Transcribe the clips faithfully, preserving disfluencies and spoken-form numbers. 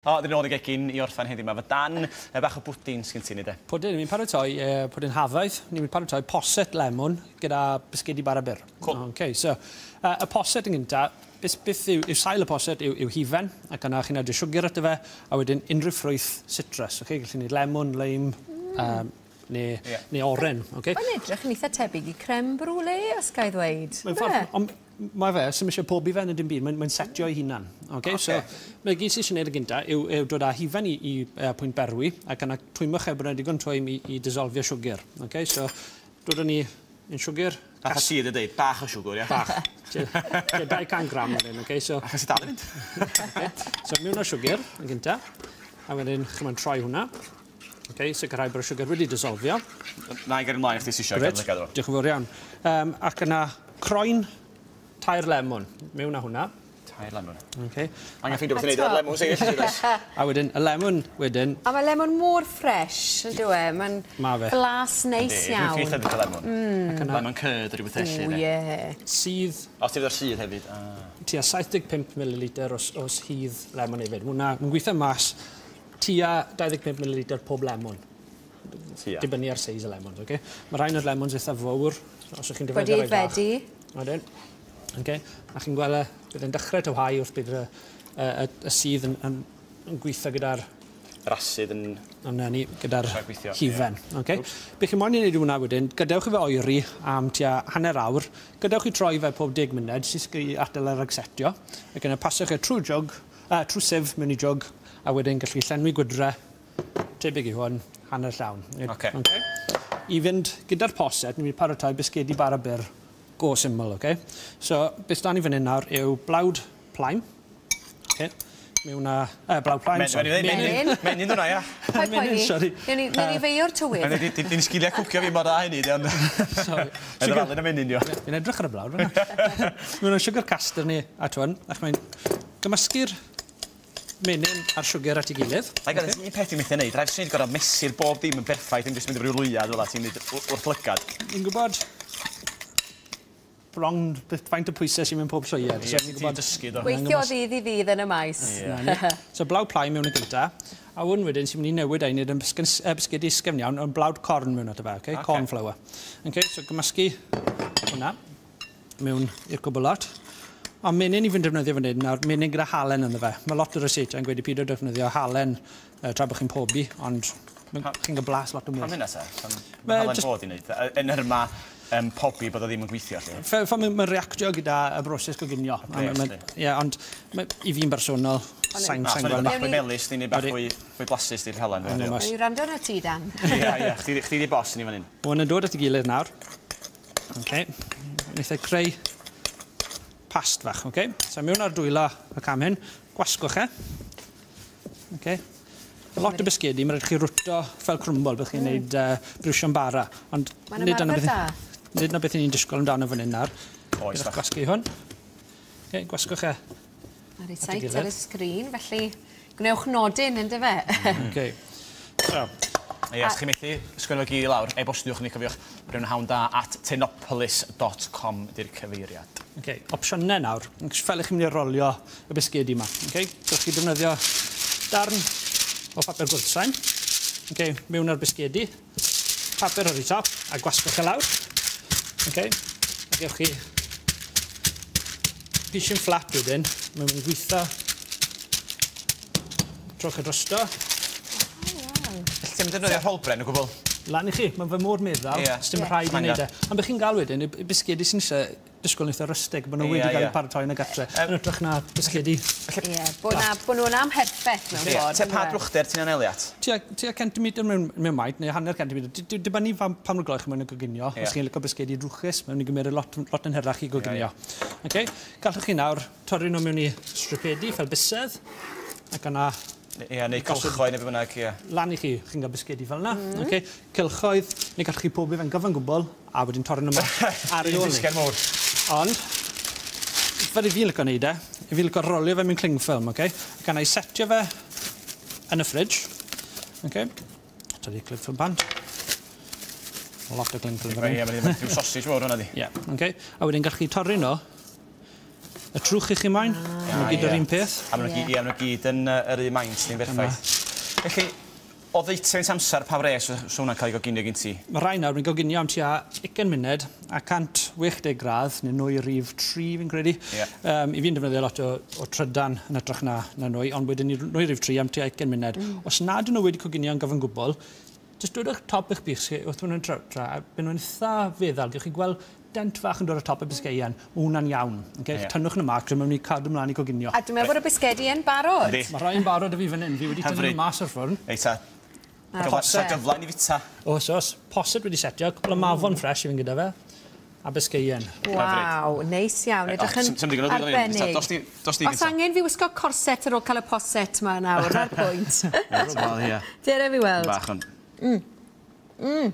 O, dyn nôl i gegin i orffen heddiw 'ma. Fy Dan, e, bach o bwdin sgyn ti ni de. Pwdin, ni'n paratoi e, pwdin hafaidd. Ni'n mynd paratoi poset lemwn gyda bisgedi bara byr. Cool. Okay, so, uh, y poset yn gynta, beth, beth yw, yw sail y poset yw, yw hufen, ac yna chi'n adio siwgr ato fe, a wedyn unrhyw ffrwyth citrus. Okay? Gallu ni lemwn, lime, mm. um, neu, yeah. neu oren. Okay? Mae'n edrych yn eitha tebyg i crème brûlée, os ga i ddweud. Mae'n ffordd, ond mae fe, sy'm eisiau pobi fe yn y dim byd, mae'n mae setio ei hunan. Okay? Okay. So, mae gyd sydd eisiau gwneud y gynta yw, yw dod â hufen i, i uh, pwynt berwi, ac yna twymwch e bod yna digon twym i, i dissolfio siwgr. Okay? So, dod â ni yn siwgr. Bach o sydd y dweud, bach o siwgr, ia? Bach. dau cant gram fan hyn, okay? So, Achos i dal i fynd. Okay. So, mewn o siwgr yn gynta, a wedyn chi'n troi hwnna. Okay, sicrhau bod y siwgr wedi dissolfio. Na i gael ymlaen i chdi sy eisiau. Grêt, diolch yn fawr iawn. Um, ac yna croen tair lemon, mewn â hwnna. Tair lemon. Okay. Angen ffeindio beth i wneud o'r lemon sy'n A wedyn, y lemon wedyn... A mae lemon mor ffres, yn dyw e? Mae'n Ma fe. Blas neis iawn. Dwi'n ffeindio lemon. Mm. Lemon curd rhywbeth felly. O, ie. Sydd... O, ti'n o'r sydd hefyd. Ah. Tua saith deg pump mililitr o, o sudd lemon hefyd. Mae'n gweithio mas tua dau ddeg pump mililitr pob lemon. Tua. Dibynnu ar seis y lemons, okay? Mae rhain o'r lemons eitha fawr, os ydych chi'n defnyddio rhai bach. Wedi Wedyn. Okay. A chi'n gweld bydd yn dechrau tywhau wrth bydd y, y, y, y sudd yn, yn, yn gweithio gyda'r... Yr asid yn... Yna ni, gyda'r hufen. Yeah. Okay. Be chi'n moyn i wneud hwnna wedyn, gadewch i fe oeri am tua hanner awr, gadewch i troi fe pob deg munud, sy'n i adael ar agsetio, ac yna pasiwch e trwy jwg, uh, trwy sif mewn i jwg, a wedyn gallu llenwi gwydre, tebyg i hwn, hanner llawn. Okay. Okay. I fynd gyda'r poset, ni'n mynd i paratoi bisgedi bara byr go syml, okay? So, beth da ni fan hyn nawr yw blawd plaen. Okay. Mewn â... Uh, blawd plaen, sorry. Menyn. Menyn hwnna, ia. Paid poeni. Sorry. Newn ni feio'r tywydd. Di'n sgiliau cwcio fi mor dda hynny, di, ond... Sorry. Mae'n ddalun y menyn, dio. Fi'n edrych ar y blawd, fan'na. Mewn â sugar caster ni at hwn, ac mae'n gymysgu'r menyn a'r siwgr at ei gilydd. Ai gael, un peth i'n methu wneud, rhaid sy'n gorfod mesur bob dim yn berffaith, ddim jyst mynd efo ryw lwyad fel ti'n mynd wrth lygad. Fi'n gwybod bron faint o pwysau sy'n mynd pob llwyad. Ie, ti'n dysgu do. Gweithio ddydd i ddydd yn y maes. So blawd plaen mewn y gynta, a hwn wedyn sy'n mynd i newid ei wneud yn bisgedi ysgafn iawn, ond blawd corn mewn ato fe, okay? Corn flour. Okay, so gymysgu hwnna mewn i'r cwbl lot. A menyn i fi'n defnyddio fan hyn nawr, menyn gyda halen ynddo fe. Mae lot o ryseitiau yn gweud i peidio defnyddio halen uh, tra bod chi'n pobi, ond chi'n cael blas lot o mwy. Pam hynna te? Pam mae halen fod i wneud? Yn yr yma um, pobi bod o ddim yn gweithio, lle? Fe, fe mae'n reactio gyda y broses goginio. Ie, ond ma, i fi'n bersonol, sain sain gweld. Bach fwy melys, ni'n bach fwy, fwy blasus di'r halen. O'n i rando na ti, Dan. Ie, ie, chdi di boss ni fan hyn. Hwn yn dod at ei gilydd nawr. Okay. Wnaeth e creu past fach, okay? So mewn ar dwylo y cam hyn, gwasgwch e. Okay. Lot o bisgedi, mae'n rhaid chi rwto fel crwmbol, byddwch chi'n gwneud mm. uh, briwsion bara. Ond nid yna beth, nid yna beth ni'n disgwyl amdano fan hyn nawr. Oes, bach. Gwasgu hwn. Okay, gwasgwch e. Mae'r reit ar y sgrin, felly gwnewch nodyn, ynddo fe? Okay. So. Ie, os chi'n methu sgwennu fo gyd i lawr, e-bostiwch ni, cofiwch, brynhawnda at tinopolis dot com di'r cyfeiriad. Okay, opsiynau nawr. Fel ych chi'n mynd i rolio y bisgedi yma. Okay? Gallwch chi defnyddio darn o papur gwrthsain. Okay, mewn ar bisgedi, papur ar ei top, a gwasgwch e lawr. Okay, a gewch chi pishin fflat wedyn, mae'n mynd i gweithio. Trowch e drosto. Ti'n defnyddio rholbren o gwbl? Lan i chi, mae'n fy mor meddal, yeah. Sdim rhaid i wneud e. Ond beth chi'n gael wedyn, y bisgedi sy'n eisiau disgwyl yn eitha rustig, bod nhw wedi cael eu paratoi yn y gatre, yn hytrach na bisgedi. Ie, bod nhw'n amherffaith mewn ffordd. Tua pa drwchder ti'n anelu at? Tua centimetr mewn maint, neu hanner centimetr. Dibynnu pa mor gloch mewn y goginio. Os chi'n licio bisgedi drwchus, mae'n mynd i gymryd lot, lot yn hirach i goginio. Okay. Gallwch chi nawr torri nhw mewn i stripedi fel bysedd, ac yna Ie, neu cylchoedd neu be bynnag, ie. Lan i chi, chi'n cael bisgedi fel yna. Mm. Okay. Cylchoedd, neu gallwch chi pobi fe'n gyfan gwbl, a wedyn torri nhw mas ar ei ôl ni. Bisged mowr. Ond, fel i fi'n licio wneud e, i fi'n licio rolio fe mewn cling film, okay? Ac yna i setio fe yn y fridge. Okay. Tynnu cling film bant. Lot o cling film fan hyn. Ie, mae'n rhyw sausage mowr hwnna di. Ie, okay. A wedyn gallwch chi torri nhw Y trwch i chi moyn, ah, maen nhw gyd yr un peth. A maen nhw gyd, gyd yn uh, yr un maint ni'n berffaith. Felly, o ddeutu amser pa wres so hwnna'n cael ei goginio gen ti? Mae rhai nawr yn goginio am tua ugain munud a cant chwech deg gradd, neu nwy rhif tri fi'n credu. Yeah. Um, I fi'n defnyddio lot o, o trydan yn hytrach na, na nwy, ond wedyn nwy rhif tri am tua ugain munud. Mm. Os nad ydyn nhw wedi coginio yn gyfan gwbl, jyst dwedwch top eich bys chi wrth maen nhw'n tra, a byd nhw'n eitha feddal. Gewch chi gweld dent fach yn dod ar top y bisgeian, mae hwnna'n iawn. Okay? Yeah. Tynnwch nhw mas, mae'n mynd i cadw ymlaen i coginio. A dwi'n meddwl bod y bisgedi yn barod. Yndi. Mae rhai'n barod y fi fan hyn, fi wedi tynnu nhw mas o'r ffwrn. Reit ta. Gyfle gyfle i ni fita. Oes, oes. Poset wedi setio, cwpl o mafon ffres i fynd gyda fe. A bisgeian. Waw, neis iawn. Edrych yn arbennig. Os angen fi wisgo corset ar ôl cael y poset ma nawr, ar pwynt. Wel, ie. Dere fi weld. Bach yn... Mm. Mm.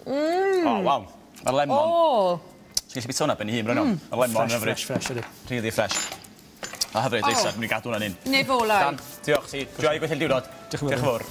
Mm. O, waw. Mae'r lemon. O! Ti'n gallu bita hwnna ben i hun, bron. Mae'r lemon yn hyfryd. Fresh, fresh, ydy. Really fresh. A hyfryd, Lisa, dwi'n mynd i gadw hwnna'n un. Neu folau. Dan, diolch ti. Joio gweithio'r diwrnod. Diolch yn fawr. Diolch yn fawr.